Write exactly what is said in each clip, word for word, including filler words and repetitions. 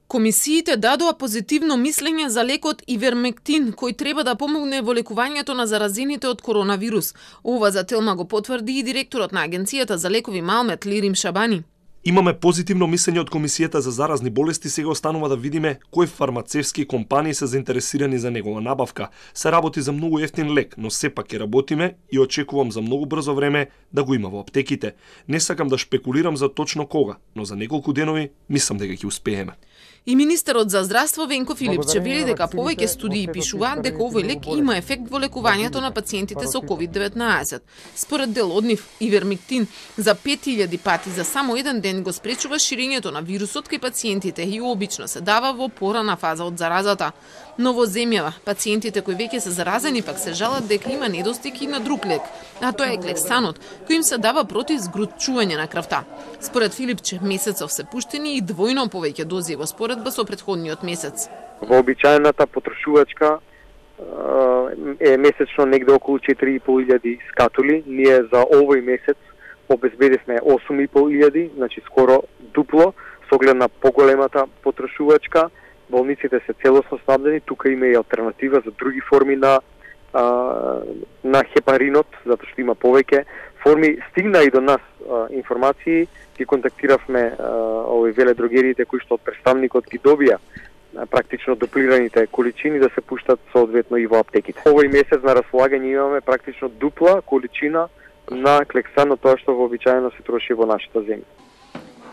Комисиите дадоа позитивно мислење за лекот Ивермектин, кој треба да помогне во лекувањето на заразените од коронавирус. Ова за Телма го потврди и директорот на Агенцијата за лекови Малмет Лирим Шабани. Имаме позитивно мислење од Комисијата за заразни болести, сега останува да видиме кои фармацевски компании се заинтересирани за негова набавка. Се работи за многу ефтин лек, но сепак ќе работиме и очекувам за многу брзо време да го има во аптеките. Не сакам да шпекулирам за точно кога, но за неколку денови мислам дека ќе успееме. И министерот за здравство Венко Филипче вели дека повеќе студии пишуваат дека овој лек има ефект во лекувањето на пациентите со ковид деветнаесет. Според дел од нив, Ивермектин за пет илјади пати за само еден ден го спречува ширењето на вирусот кај пациентите и обично се дава во порана фаза од заразата. Но во земјава, пациентите кои веќе се заразени пак се жалат дека има недостиг и на друг лек, а тоа е клексанот, кој им се дава против згрутчување на крвта. Според Филипче, месецов се пуштени и двојно повеќе дози во споредба со претходниот месец. Вообичаената потрошувачка е месечно негде околу четири и пол илјади скатули. Ние за овој месец обезбедивме осум и пол илјади, значи скоро дупло, со оглед на поголемата потрошувачка. Болниците се целосно снабдени, тука има и алтернатива за други форми на а, на хепаринот, затоа што има повеќе форми. Стигна и до нас а, информации, ги контактиравме овој веледрогериите кои што од представникот ги добија а, практично дуплираните количини да се пуштат соодветно и во аптеките. Овој месец на располагање имаме практично дупла количина на клексан од тоа што вообичаено се троши во нашата земја.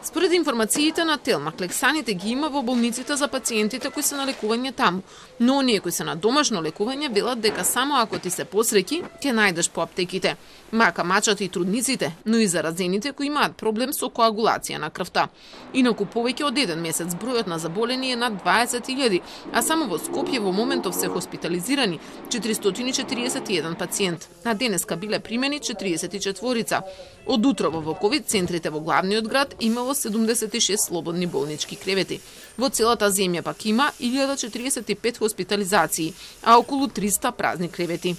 Според информациите на Телма, клексаните ги има во болниците за пациентите кои се на лекување таму, но оние кои се на домашно лекување велат дека само ако ти се посреќи, ќе најдеш по аптеките. Мака мачат и трудниците, но и заразените кои имаат проблем со коагулација на крвта. Инаку повеќе од еден месец бројот на заболени е над дваесет илјади, а само во Скопје во моментов се хоспитализирани четиристотини и четириесет и еден пациент, а денеска биле примени четириесет и четворица. Од утрово во ковид центрите во главниот град имало седумдесет и шест слободни болнички кревети. Во целата земја пак има илјада четириесет и пет хоспитализации, а околу триста празни кревети.